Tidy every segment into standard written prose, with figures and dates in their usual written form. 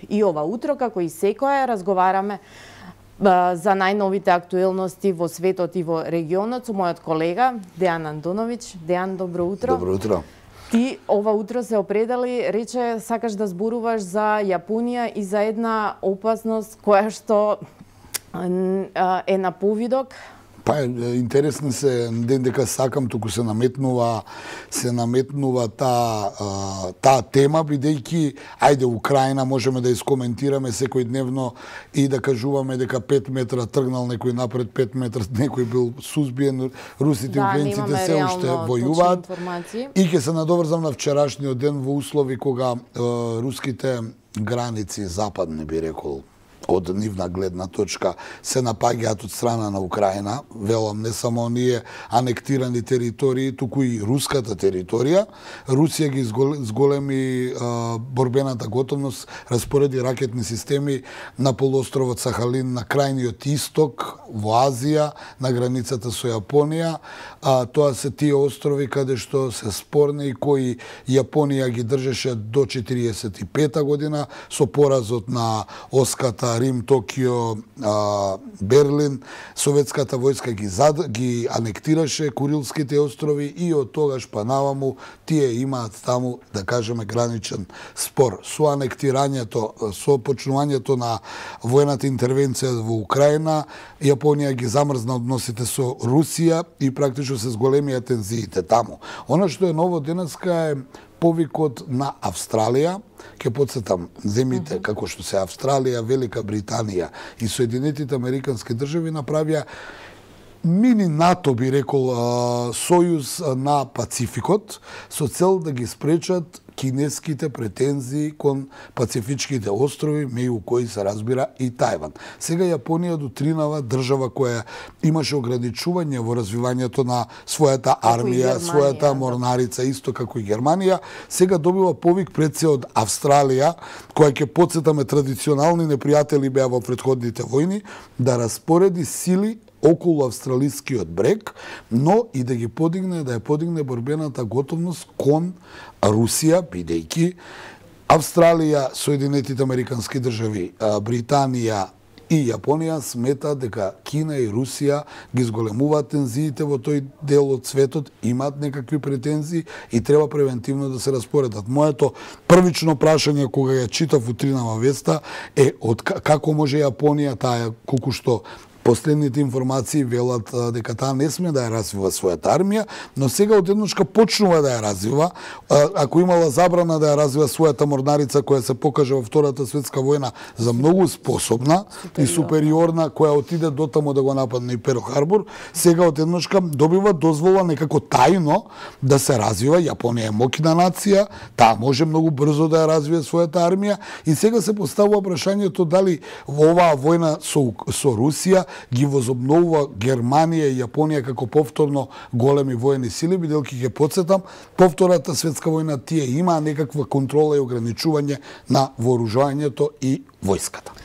И ова утро, како и секоја, разговараме за најновите актуелности во светот и во регионот со мојот колега Дејан Антоновиќ. Дејан, добро утро. Добро утро. Ти ова утро се определи, рече, сакаш да зборуваш за Јапонија и за една опасност која што е на повидок. Па интересно се ден дека сакам, туку се наметнува таа тема, бидејќи ајде Украина можеме да искоментираме секој дневно и да кажуваме дека 5 метра тргнал некој напред, 5 метра некој бил сузбиен, русите и украинците се уште војуваат. И ќе се надоврзам на вчерашниот ден во услови кога руските граници западни, би рекол, од нивна гледна точка се напаѓаат од страна на Украина, велам, не само оние анектирани територии, туку и руската територија. Русија ги зголеми борбената готовност, распореди ракетни системи на полуостровот Сахалин, на крајниот исток, во Азија, на границата со Јапонија. Тоа се тие острови каде што се спорни и кои Јапонија ги држеше до 1945 година со поразот на Оската, Рим, Токио, Берлин. Советската војска ги анектираше Курилските острови и од тогаш па наваму тие имаат таму, да кажеме, граничен спор. Со анектирањето, со почнувањето на војната интервенција во Украина, Јапонија ги замрзна односите со Русија и практично се зголемија тензиите таму. Она што е ново денеска е повикот на Австралија. Ке подсетам, земјите како што се Австралија, Велика Британија и Соединетите Американски држави направија мини НАТО, би рекол, сојуз на Пацификот со цел да ги спречат кинеските претензии кон Пацифичките острови, меѓу кои се разбира и Тајван. Сега Јапонија дотринава држава која имаше ограничување во развивањето на својата армија, својата морнарица, исто како и Германија. Сега добива повик пред се од Австралија, која ќе подсетаме традиционални непријатели беа во претходните војни, да распореди сили околу австралискиот брег, но и да ја подигне борбената готовност кон Русија, бидејќи Австралија, Соединетите Американски држави, Британија и Јапонија сметаат дека Кина и Русија ги зголемуваат тензиите во тој дел од светот, имаат некакви претензии и треба превентивно да се распоредат. Моето првично прашање кога ја читав утринава веста е како може Јапонија, таа колку што последните информации велат дека таа не сме да ја развива својата армија, но сега одеднашка почнува да ја развива. Ако имала забрана да ја развива својата морнарица која се покажа во Втората светска војна за многу способна и супериорна, која отиде дотаму да го нападне и Перл Харбор, сега одеднашка добива дозвола некако тајно да се развива. Јапонија е моќна нација, таа може многу брзо да ја развие својата армија и сега се поставува прашањето дали во оваа војна со Русија ги возобновува Германија и Јапонија како повторно големи воени сили, бидејќи ќе подсетам, по Втората светска војна тие имаа некаква контрола и ограничување на вооружувањето и војската.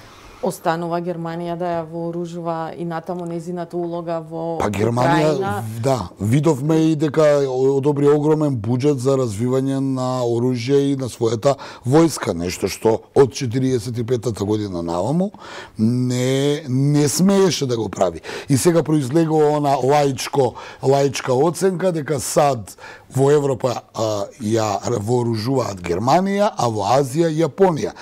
Останува Германија да ја вооружува и натаму незината улога во Германија, Украина. да, видовме и дека одобри огромен буџет за развивање на оружје и на својата војска, нешто што од 45-та година наваму не смееше да го прави. И сега произлегува она лаичка оценка дека САД во Европа ја вооружуваат Германија, а во Азија Јапонија.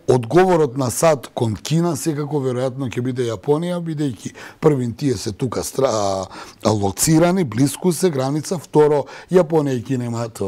Одговорот на САД кон Кина секако веројатно ќе биде Јапонија, бидејќи првин тие се тука лоцирани, блиску се граница, второ Јапонија и Кина имаат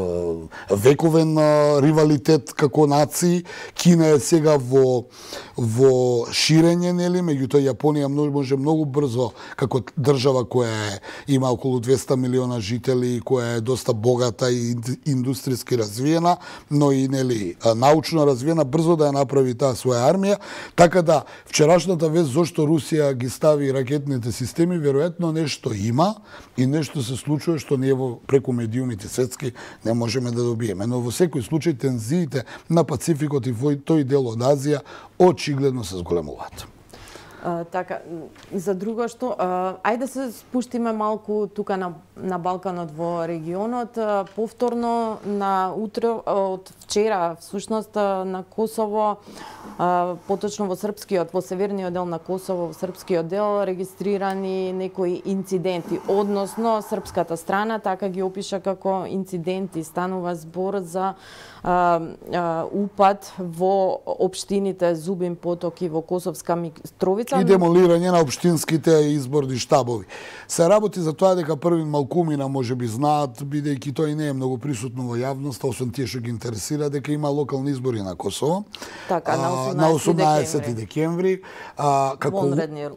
вековен ривалитет како нации. Кина е сега во ширење, нели, меѓутоа Јапонија може многу брзо како држава која има околу 200 милиона жители, која е доста богата и индустријски развиена, но и нели научно развиена, брзо да ја направи таа своја армија, така да вчерашната вест зошто Русија ги стави ракетните системи, веројатно нешто има и нешто се случува што ние преку медиумите светски не можеме да добиеме. Но во секој случај тензиите на Пацификот и во тој дел од Азија очигледно се зголемуваат. Така, за друго што, ајде да се спуштиме малку тука на Балканот во регионот. Повторно на утро од вчера, всушност на Косово, поточно во српскиот, во северниот дел на Косово, во српскиот дел регистрирани некои инциденти, односно српската страна така ги опиша како инциденти. Станува збор за упад во општините Зубин Поток и во Косовска Митровица и демолирање на општинските изборни штабови. Се работи за тоа дека Првин Малкумина можеби знаат, бидејќи тој не е многу присутно во јавноста, освен тие што ги интересира, дека има локални избори на Косово. Така, на 18 декември,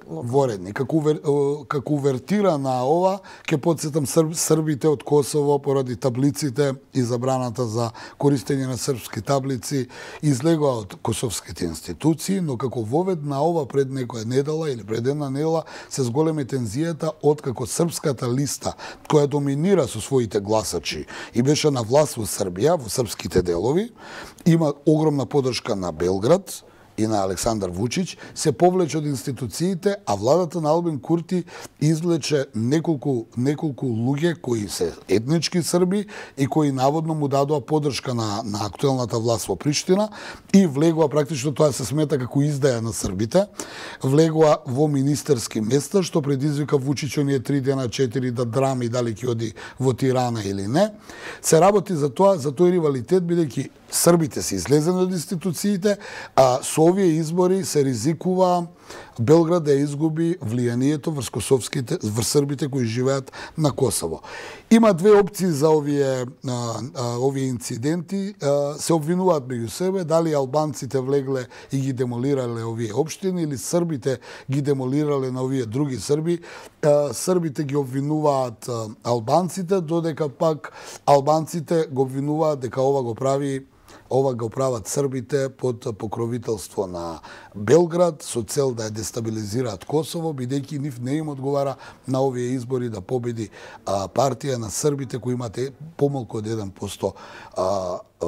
воредни. Како увертира на ова, ќе потсетам србите од Косово поради таблиците и забраната за користење на српски таблици излегоа од косовските институции, но како вовед на ова пред некоја недела или пред една недела се зголеми тензијата откако српската листа, која доминира со своите гласачи и беше на власт во Србија, во српските делови, има огромна поддршка на Белград и на Александар Вучич, се повлече од институциите, а владата на Албин Курти извлече неколку луѓе кои се етнички срби и кои наводно му дадоа поддршка на актуелната власт во Приштина и влегоа, практично тоа се смета како издаја на србите, влегоа во министерски места, што предизвика Вучич оние 3 дена, 4 да драми дали ќе оди во Тирана или не. Се работи за тоа, за тој ривалитет, бидејќи србите се излезени од институциите, а со овие избори се ризикува Белград да изгуби влијанието врз србите кои живеат на Косово. Има две опции за овие инциденти. Се обвинуваат меѓу себе дали албанците влегле и ги демолирале овие општини или србите ги демолирале на овие други срби. Србите ги обвинуваат албанците, додека пак албанците го обвинуваат дека ова го прават србите под покровителство на Белград со цел да ја дестабилизираат Косово, бидејќи нив не им одговара на овие избори да победи партија на србите кои имате помалку од 1%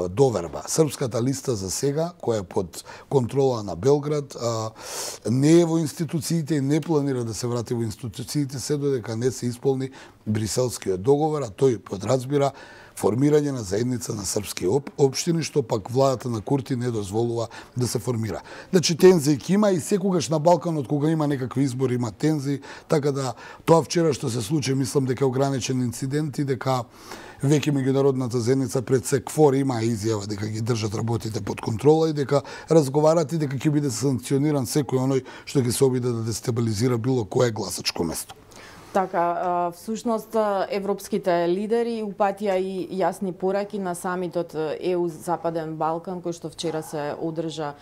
доверба. Српската листа за сега, која е под контрола на Белград, не е во институциите и не планира да се врати во институциите се додека не се исполни Бриселскиот договор, а тој подразбира формирање на заедница на српски општини, што пак владата на Курти не дозволува да се формира. Значи, тензии има и секогаш на Балканот, кога има некакви избори, има тензии, така да тоа вчера што се случи, мислам дека е ограничен инцидент и дека веќе меѓународната заедница пред се КФОР има изјава дека ги држат работите под контрола и дека разговарат и дека ќе биде санкциониран секој оној што ќе се обиде да дестабилизира било кое гласачко место. Така, всушност европските лидери упатија и јасни пораки на самитот ЕУ Западен Балкан, кој што вчера се одржа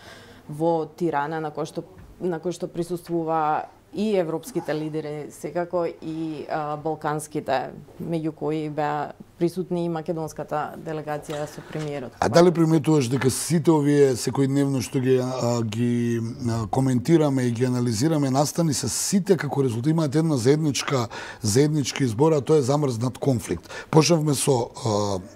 во Тирана, на кој што присуствува и европските лидери, секако и балканските, меѓу кои беа присутни и македонската делегација со премиерот. А дали приметуваш дека сите овие секојдневно што ги коментираме и ги анализираме настани се сите како резултат имаат една заеднички избор, а тоа е замрзнат конфликт. Почнавме со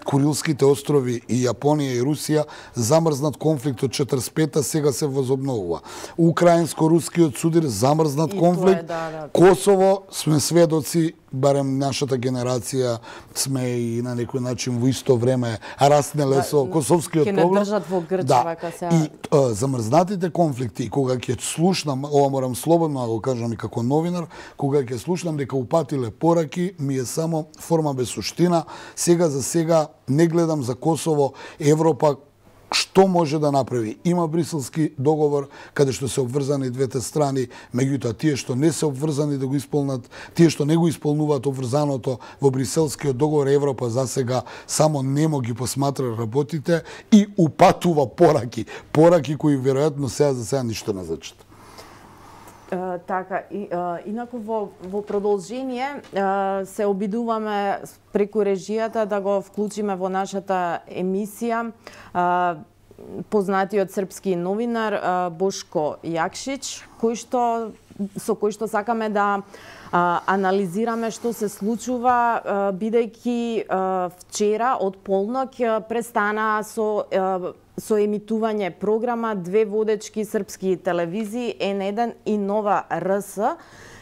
Курилските острови и Јапонија и Русија, замрзнат конфликт од 45-та сега се возобновува. Украинско-рускиот судир, замрзнат конфликт. Косово сме сведоци, барем нашата генерација сме и на некој начин во исто време раснеле со косовскиот проблем. Ке не држат во грча вака се. И замрзнатите конфликти, кога ќе слушнам, ова морам слободно да го кажам и како новинар, кога ќе слушнам дека упатиле пораки, ми е само форма без суштина. Сега за сега не гледам за Косово, Европа што може да направи. Има Бриселски договор каде што се обврзани двете страни, меѓутоа тие што не се обврзани да го исполнат, тие што не го исполнуваат обврзаното во Бриселскиот договор, Европа за сега само немо ги посматра работите и упатува пораки кои веројатно за сега ништо не значат. Така, инаку во продолжение се обидуваме преку режијата да го вклучиме во нашата емисија познатиот српски новинар Бошко Јакшич, со кој што сакаме да анализираме што се случува, бидејќи вчера од полнок престана со емитување програма две водечки српски телевизии, N1 и Нова РС,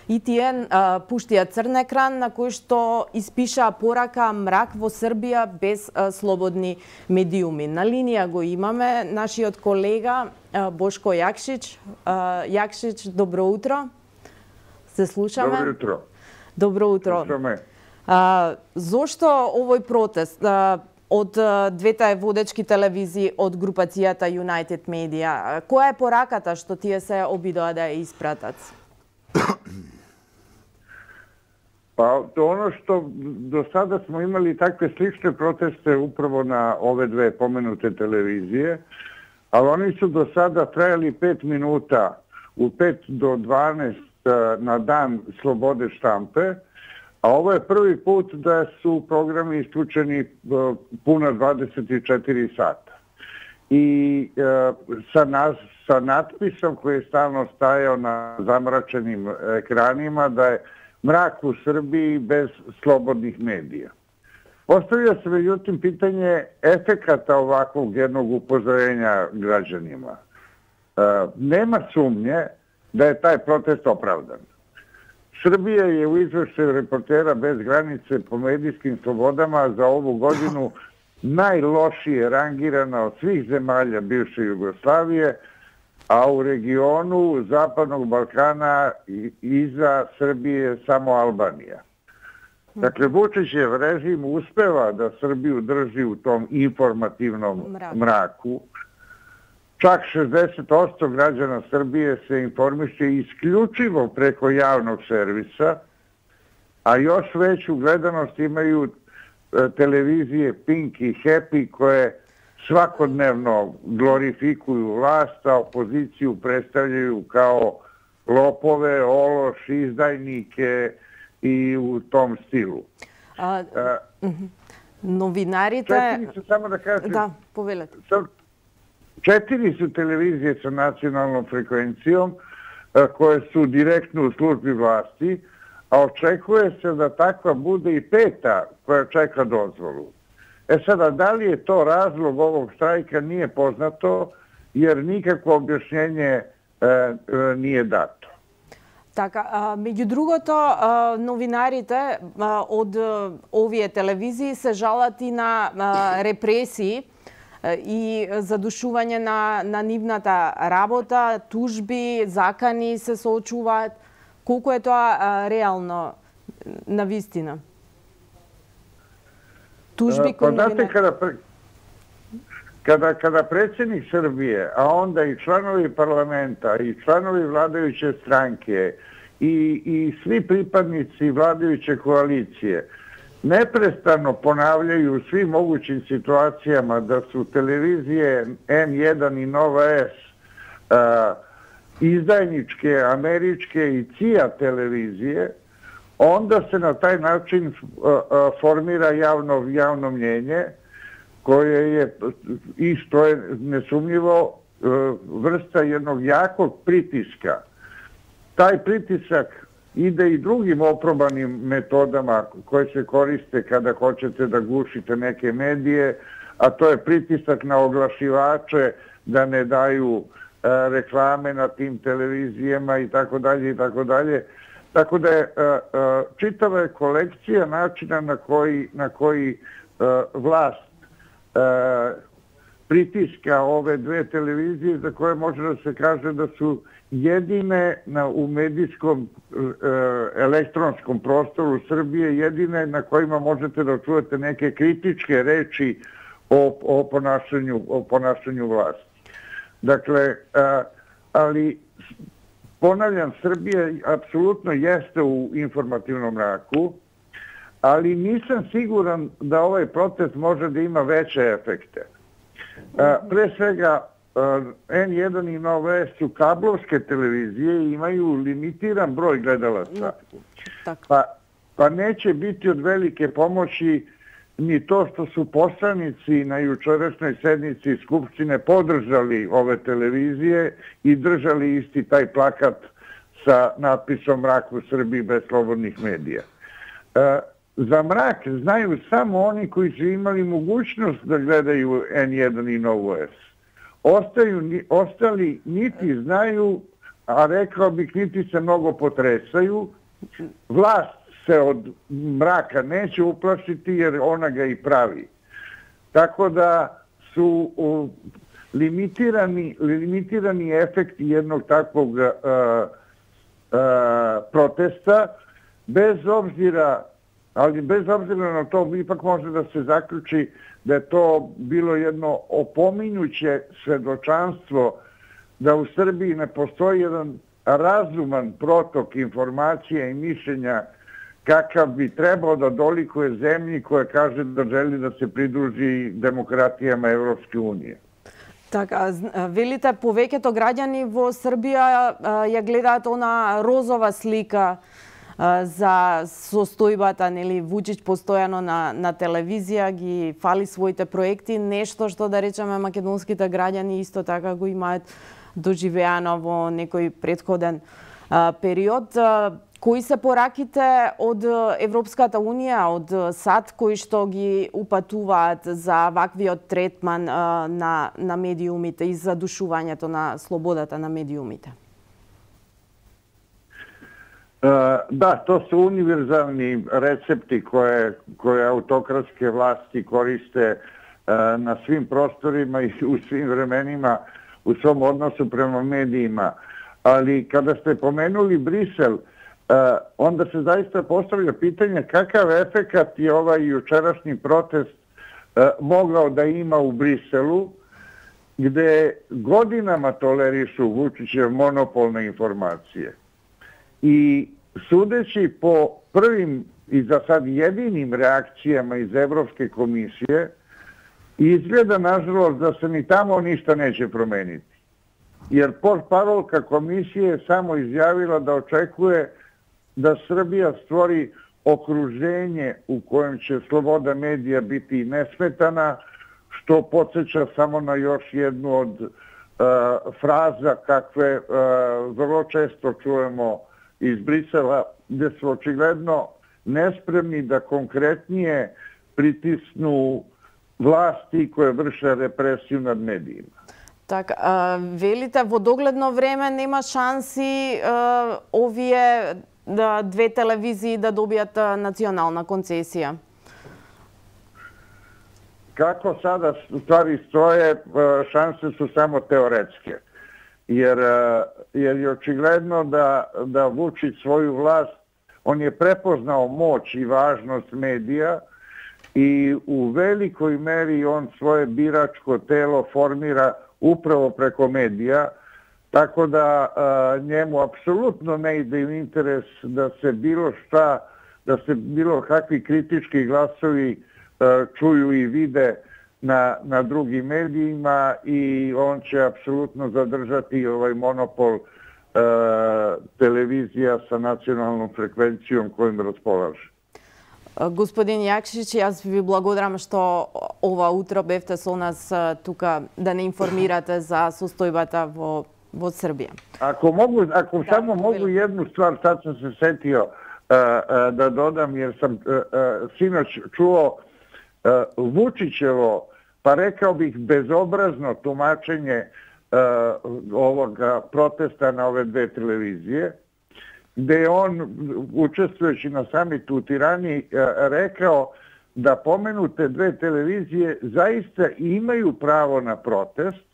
и тие пуштија црн екран на кој што испиша порака мрак во Србија без слободни медиуми. На линија го имаме нашиот колега Бошко Јакшич. Јакшич, добро утро. Се слушаме? Добро утро. Добро утро. Слушаме. Зошто овој протест од двете водечки телевизии од групацијата United Media? Која е пораката што тие се обидоа да ја испратат? Па, оно што до сада смо имали такве слични протести управо на ове две поменуте телевизije, ali oni su do sada trajali 5 minuta, u 5 do 12 na dan slobode štampe, a ovo je prvi put da su programi isključeni puna 24 sata. I sa natpisom koji je stalno stajao na zamračenim ekranima da je mrak u Srbiji bez slobodnih medija. Postavlja se međutim pitanje efekata ovakvog jednog upozorenja građanima. Nema sumnje da je taj protest opravdan. Srbija je u izveštaju Reportera bez granice po medijskim slobodama za ovu godinu najlošije rangirana od svih zemalja bivše Jugoslavije, a u regionu Zapadnog Balkana iza Srbije samo Albanija. Dakle, Vučićev režim uspeva da Srbiju drži u tom informativnom mraku. Čak 60% građana Srbije se informiše isključivo preko javnog servisa, a još veću gledanost imaju televizije Pink i Happy koje svakodnevno glorifikuju vlast, a opoziciju predstavljaju kao lopove, ološ, izdajnike i u tom stilu. Novinarите... Samo da kažem... Da, povedете. 4 su televizije sa nacionalnom frekvencijom koje su direktno u službi vlasti, a očekuje se da takva bude i 5. koja čeka dozvolu. Sada, da li je to razlog ovog štrajka nije poznato, jer nikakvo objašnjenje nije dato. Така, меѓу другото, новинарите од овие телевизии се жалат и на репресии и задушување на нивната работа, тужби, закани се соочуваат. Колку е тоа реално на вистина? Тужби кои новинари... Kada predsjednik Srbije, a onda i članovi parlamenta, i članovi vladajuće stranke, i svi pripadnici vladajuće koalicije neprestano ponavljaju u svim mogućim situacijama da su televizije N1 i Nova S izdajničke, američke i CIA televizije, onda se na taj način formira javno mnjenje, koje je, i što je nesumnjivo, vrsta jednog jakog pritiska. Taj pritisak ide i drugim oprobanim metodama koje se koriste kada hoćete da gušite neke medije, a to je pritisak na oglašivače da ne daju reklame na tim televizijama i tako dalje i tako dalje. Tako da je čitava je kolekcija načina na koji vlast pritiska ove dve televizije za koje može da se kaže da su jedine u medijskom elektronskom prostoru Srbije, jedine na kojima možete da čujete neke kritičke reči o ponašanju vlasti. Dakle, ali ponavljam, Srbija apsolutno jeste u informativnom mraku, ali nisam siguran da ovaj protest može da ima veće efekte. Pre svega, N1 i Nova S su kablovske televizije i imaju limitiran broj gledalaca. Pa neće biti od velike pomoći ni to što su poslanici na jučerašnjoj sednici Skupštine podržali ove televizije i držali isti taj plakat sa natpisom "Mrak u Srbiji bez slobodnih medija". Za mrak znaju samo oni koji su imali mogućnost da gledaju N1 i Novu S. Ostali niti znaju, a rekao bih niti se mnogo potresaju. Vlast se od mraka neće uplašiti jer ona ga i pravi. Tako da su limitirani efekti jednog takvog protesta, bez obzira na to, ipak može da se zaključi da je to bilo jedno opominjuće svedočanstvo da u Srbiji ne postoji jedan razuman protok informacija i mišljenja kakav bi trebao da dolikuje zemlji koja kaže da želi da se pridruži demokratijama Evropske unije. Така, велите, повеќето граѓани во Србија ја гледаат она розова слика за состојбата, нели, Вучич постојано на телевизија ги фали своите проекти, нешто што, да речеме, македонските граѓани исто така го имаат доживеано во некој претходен период. Кои се пораките од Европската Унија, од САД, кои што ги упатуваат за ваквиот третман на медиумите и задушувањето на слободата на медиумите? Da, to su univerzalni recepti koje autokratske vlasti koriste na svim prostorima i u svim vremenima u svom odnosu prema medijima. Ali kada ste pomenuli Brisel, onda se zaista postavlja pitanje kakav efekat je ovaj jučerašnji protest mogao da ima u Briselu, gde godinama tolerišu Vučićev monopol na informacije. I sudeći po prvim i za sad jedinim reakcijama iz Evropske komisije, izgleda, nažalost, da se ni tamo ništa neće promeniti. Jer portparolka komisije je samo izjavila da očekuje da Srbija stvori okruženje u kojem će sloboda medija biti nesmetana, što podsjeća samo na još jednu od fraza kakve vrlo često čujemo iz Brisela, gde su očigledno nespremni da konkretnije pritisnu vlasti koje vrše represiju nad medijima. Така, велите, во догледно време нема шанси овие две телевизии да добијат национална концесија? Kako sada stvari stoje, šanse su samo teoretske. Jer je očigledno da Vučić svoju vlast, on je prepoznao moć i važnost medija i u velikoj meri on svoje biračko telo formira upravo preko medija, tako da njemu apsolutno ne ide u interes da se bilo kakvi kritički glasovi čuju i vide na drugim medijima i on će apsolutno zadržati ovaj monopol televizija sa nacionalnom frekvencijom kojim raspolaže. Господин Јакшич, јас ви благодарам што ова утро бевте со нас тука да не информирате за состојбата во Србија. Ако само могу jednu stvar, sad sam se setio da dodam, jer sam sinoć čuo Vučićevo, pa rekao bih bezobrazno tumačenje ovoga protesta na ove dve televizije, gde je on, učestvujući na samitu u Tirani, rekao da pomenute dve televizije zaista imaju pravo na protest,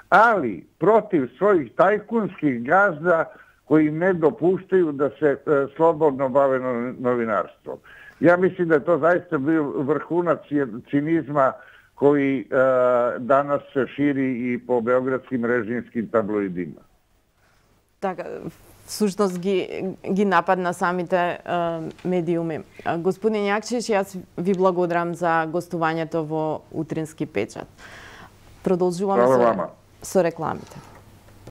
ali protiv svojih tajkunskih gazda koji im ne dopuštaju da se slobodno bave novinarstvom. Ja mislim da je to zaista bio vrhunac cinizma koji danas se širi i po beogradskim režimskim tabloidima. Така, всушност ги нападна самите медиуми. Господин Јакшич, јас ви благодарам за гостувањето во Утрински печат. Продолжувам со рекламите.